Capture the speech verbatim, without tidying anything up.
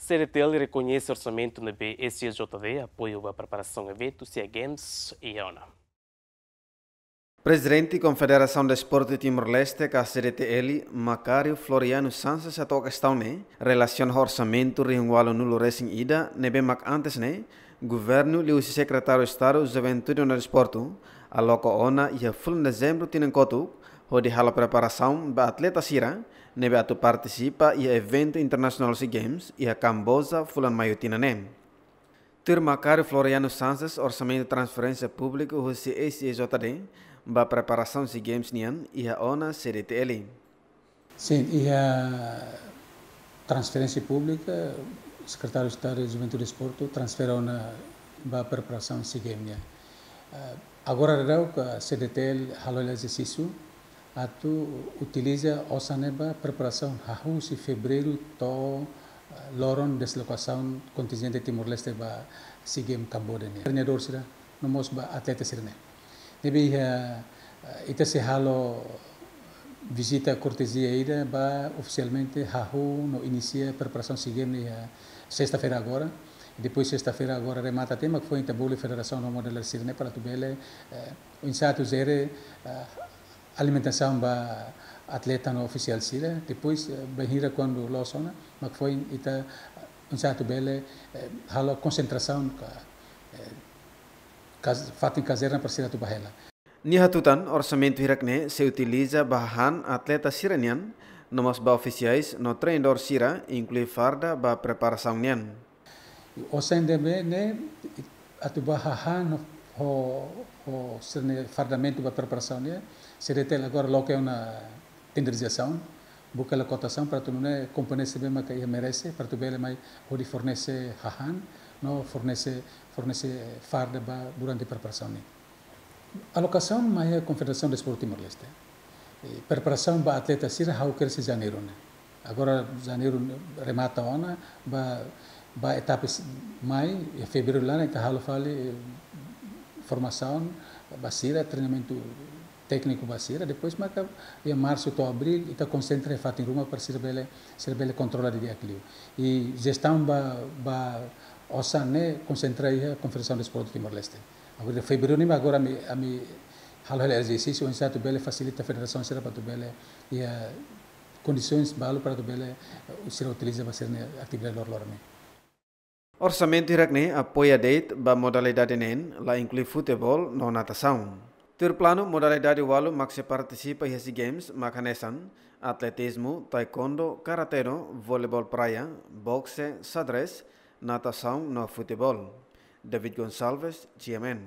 C D T L rekoñese orsamentu ne'ebé S J J D apoiu ba preparasaun eventu SEA Games iha ona. Prezidente Konfederasaun Desportu Timor-Leste ka C D T L, Macário Floriano Sanches hato'o kestaun ne'e relasiona ho orsamentu rihun ualunulu resin ida ne'ebé mak antes ne'e governu liuhusi Sekretáriu Estadu Juventude no Desportu aloka ona iha fulan Dezembru tinan kotuk hodi halo preparasaun ba atleta sira ne'ebé atu partisipa iha eventu internasionál SEA Games iha Kamboja fulan Maiu tinan ne'e. Tuir Macário Floriano Sanches, orsamentu transferénsia públiku husi S J J D ba preparasaun SEA Games nian iha ona C D T L. Sin, iha transferénsia públika, Sekretáriu Estadu Juventude Desportu transfere ona ba preparasaun SEA Games nian. Eh, agora daudaun C D T L halo hela ezersísiu atu utiliza osan ne'e ba preparasaun hahú husi fevereiru to'o, eh, loron deslokasaun kontinjente Timor-Leste ba SEA Games Kamboja nian. Treinadór sira, no mós ba atleta sira-ne'e. Ne'ebé iha, eh, ita sei halo vizita kortezia ida ba ofisialmente hahú no inisia preparasaun SEA Games iha sesta-feira agora. Depois sesta-feira agora remata tiha mak foin ita bolu federasaun no modalidade sira-ne'e para atu bele, eh, oinsá atu jere, eh, alimentasaun ba atleta no ofisiál sira. Depois, eh, bainhira kuandu loos ona, mak foin ita, eh, oinsá atu bele, eh, halo konsentrasaun ka, eh, kaz-, fatin kazerna para sira atu bá hela. Nia hatutan, orsamentu hirak-ne'e sei utiliza ba hahán atleta sira-nian, no mós ba ofisiais no treinadór sira, inklui farda ba preparasaun nian. Osan ne'ebé ne'e atu bá hahán ho, ho sira-nia fardamentu ba preparasaun nian, C D T L agora loke ona tenderizasaun, buka hela kotasaun para atu nune'e kompañia sira ne'ebé maka iha merese, para atu bele mai hodi fornese hahán, no fornese, fornese farda ba durante preparasaun nian. Alokasaun mai iha Konfederasaun Desportu Timor-Leste. Eh, preparasaun ba atleta sira ha'u kedas iha Janeiru ne'e. Agora Janeiru remata ona, ba, ba etapa s-, mai, iha Fevereiru laran ita halo fali, eh, formasaun ba sira, treinamentu tékniku ba sira, depois maka iha Marsu to'o Abríl ita konsentra iha fatin ruma para sira bele, sira bele kontrola didi'ak liu. I jestaun ba, ba osan ne'e konsentra iha Konfederasaun Desportu Timor-Leste. Agora Fevereiru nian agora ami, ami halo hela ezersísiu oinsá atu bele fasilita federasaun sira para atu bele iha kondisoens balu para atu bele, eh, sira utiliza ba sira-nia atividade loroloron nian. Orsamentu hirak-ne'e apoia de'it ba modalidade neen, la inklui futeból no natasaun. Tuir planu, modalidade ualu mak sei partisipa iha SEA Games mak hanesan atletizmu, taekwondo, karate-do, voleibol praia, bokse, xadrez, natasaun no futeból. David Gonçalves, G M N.